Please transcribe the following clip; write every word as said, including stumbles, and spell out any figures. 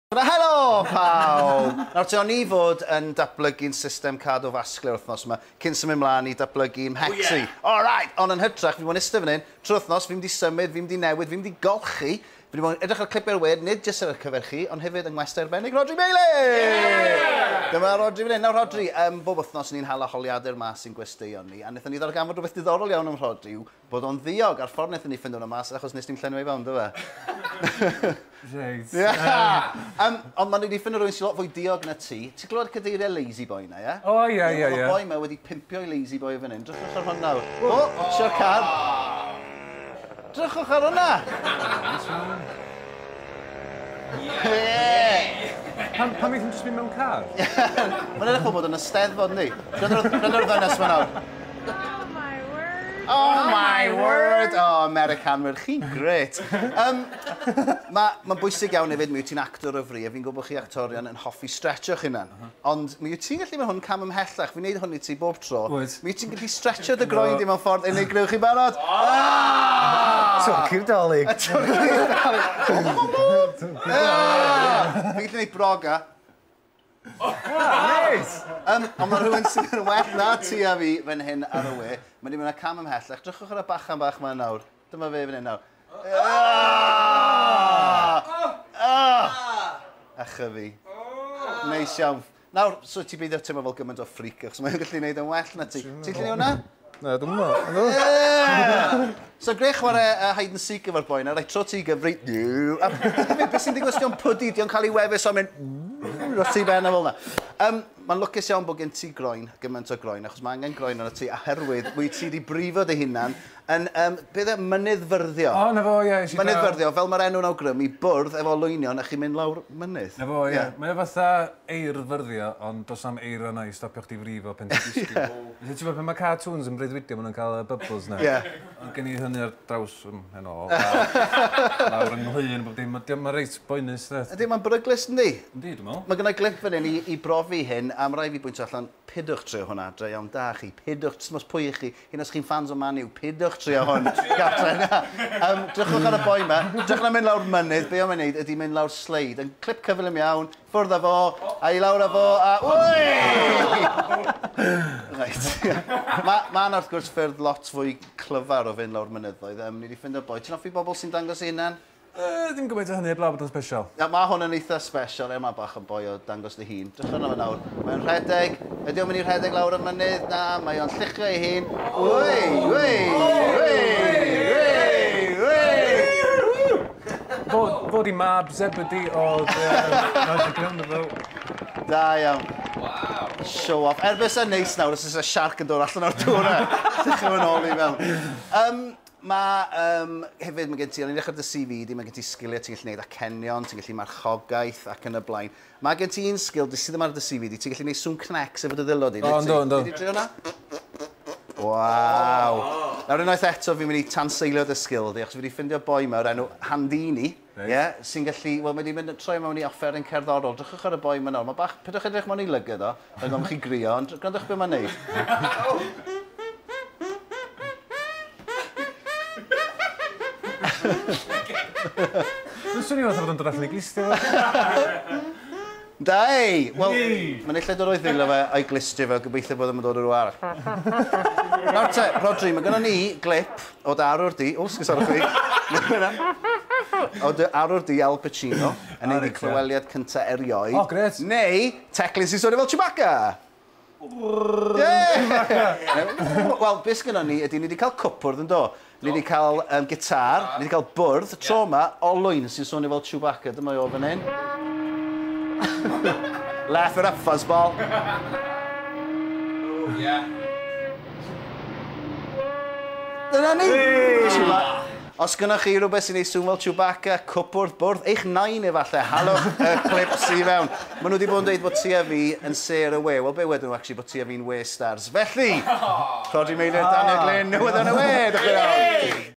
Helo pawb! Nawr te, o'n i fod yn datblygu'n system cardiovascular wythnos yma, cyn symud mlaen i datblygu'n mhecsi. Oh, yeah. All right! Ond yn hytrach, fi bod yn eistedd fan hyn, trwy wythnos, fi'n mynd i symud, fi'n mynd i newid, fi'n mynd i golchi. Fi wedi bod yn edrych ar clip ar we, nid jyst ar y cyfer chi, ond hefyd yng ngwestai arbennig Rhodri Meilir! Yeah! Dyma Rhodri fan hyn. Nawr Rhodri, um, bob wythnos ni'n hala holiadau'r mas sy'n gwesteion ni, a wnaethon ni ddarganfod rhywbeth diddorol iawn am Rhodri, yw bod o'n ddiog, a'r ffordd wnaethon ni ffindo hwnna mas, achos nes ni'n llenwi ei fewn, do fe? Reit. Yeah. Um, ond maen nhw wedi ffindo rhywun sy'n lot fwy diog na ti. Ti'n clywed cadeiriau Lazy Boy na, ie? O, ie, ie, ie. Mae'r boi yma wedi pimpio i Lazy Boy fan hyn. Drychwch ar hwn nawr. O, tio'r car. Drychwch ar hwnna! Ie! Pam, pam eithon jyst mynd mewn car? Mae'n edrych fel bod yn y Steddfod, yndi? Gwrando ar ddynes ma nawr. Oh my word. Oh my word! Oh, Americanwyr, chi'n grêt. Um, Mae'n ma bwysig iawn hefyd, mi wyt ti'n actor o fri, a fi'n gwybod chi actorion yn hoffi stretcho'ch hunan. Uh -huh. Ond mi wyt ti'n gallu mynd hwn cam ymhellach, fi'n neud hwn i ti bob tro. Wyt. Mi wyt ti'n gallu stretcho dy groen di mewn ffordd unigryw, chi'n barod? Ah! Twrci'r Dolig. Y twrci'r Dolig. Fi'n gallu neud broga. Ah, neis! Um, ond mae rhywun sydd yn well na ti a fi fan hyn ar y we. Mae wedi mynd â cam ymhellach. Drychwch ar y bachan bach ma nawr. Dyma fe fan hyn nawr. Ah! Ah! Acha fi. Neis iawn. Nawr, so ti'n beidio teimlo fel gymaint o freak, achos mae'n gallu gwneud yn well na ti. Ti'n gallu gwneud hwnna? Na, dwi'n meddwl. Yeah! So, greu chwarae uh, hide and seek efo'r boi na, reit, tro ti gyfri... A beth sy'n digwydd os dio'n pwdu, dio'n cael ei wefus o'n mynd... Dros ti ben a fel na. Um, Mae'n lwcus iawn bod gen ti groen, gymaint o groen, achos mae angen groen arno ti, oherwydd wyt ti wedi brifo dy hunan yn, um, beth e, mynyddfyrddio. O, na fo, ie. Mynyddfyrddio, fel mae'r enw'n awgrymu, bwrdd efo olwynion a chi'n mynd lawr mynydd. Na fo, ie. Yeah. Mae o fatha eirfyrddio, ond does am eira yna i stopio chdi frifo pen ti'n disgyn. Yeah. Felly, ti'n gwybod, pan mae cartoons yn breuddwydio, maen nhw'n cael y bubbles na. Ie. Yeah. Ond gen i hynny ar draws ym mhen ôl, lawr yng nghlun, bob dim. Mae'n reit boenus, de. Ydy, mae'n beryglus, yndi? Yndi, dwi'n meddwl. Mae gynna i glip fan hyn i, i brofi hyn, a mae rhaid fi bwyntio allan, pidwch trio hwnna adre, iawn da chi, pidwch, jyst mos pwy i chi, hyn os chi'n fans o Man U, pidwch trio hwn, gatre na. Um, drychwch ar y boi yma, drychwch ar mynd lawr mynydd, be o'n mynd ydy mynd lawr sleid, yn clip cyflym iawn, ffwrdd â fo, a i lawr â fo, a wy! Reit. Mae ma yna wrth gwrs ffyrdd lot fwy clyfar o fynd lawr mynyddoedd. Um, ni wedi ffindo boi. Ti'n hoffi bobl sy'n dangos eu hunan? Uh, ddim gymaint o hynny, heblaw bod o'n special. Ja, mae hwn yn eitha special, er mae bach yn boi o dangos dy hun. Drychwch arno fe nawr. Mae'n rhedeg. Ydy o'n mynd i rhedeg lawr y mynydd? Na, mae o'n lluchio ei hun. Wy, wy, wy, wy, wy. Fod, fod i mab Zebedee oedd... Da iawn. Wow. Show off. Er beth sy'n neis nawr, os oes y siarc yn dod allan o'r dŵr yna. Lluchio yn ôl i mewn. Um, Mae, um, hefyd, mae gen ti, o'n i'n edrych ar dy C V di, mae gen ti sgiliau, ti'n gallu gwneud acenion, ti'n gallu marchogaeth ac yn y blaen. Mae gen ti un sgil, sydd ddim ar dy C V di, ti'n gallu gwneud sŵn cnecs efo dy ddwylo di. O, yndw, yndw. Ti 'di drio hwnna? Waw. Nawr unwaith eto, fi'n mynd i tanseilio dy sgil di, achos fi wedi ffindio boi yma o'r enw Handini, yeah, sy'n gallu, wel, mae wedi mynd troi mewn i offeryn cerddorol. Drychwch ar y boi yma nawr. Mae bach, pidwch edrych mewn i lygad o, rhaid ofn chi grio, ond gwrandwch beth mae'n neud. Dwi'n swnio fatha bod o'n dod allan i glistio fo. Dai! Wel, mae'n illa dod o'i ddwylo fe a'i glistio fe, gobeithio bod o'n dod o rhyw arall. Nawr te, Rhodri, mae gynnon ni glip o dy arwr di... O, sgusodwch fi. O dy arwr di Al Pacino, yn neud ei clyweliad cynta erioed. O, grêt. Neu teclyn sy'n swnio fel Chewbacca. Yeah! Wel, beth sgynnon ni ydy, ni wedi cael cwpwrdd yn do. Ni wedi cael um, gitar, ni wedi cael bwrdd, tro yma, olwyn sy'n swnio fel Chewbacca. Dyma o fan hyn. Laugh it up, fuzzball. Oh, yeah. Dyna ni! Hey. Os gynnoch chi rhywbeth sy'n ei sŵn fel Chewbacca, cwpwrdd, bwrdd, eich nain efallai, halwch y clips i fewn. Maen nhw wedi bod yn dweud bod ti a fi yn sêr y we. Wel, be wedyn nhw, actually, bod ti a fi'n we stars. Felly, Rhodri Meilir, Daniel Glyn, newyddion y we! Diolch yn fawr.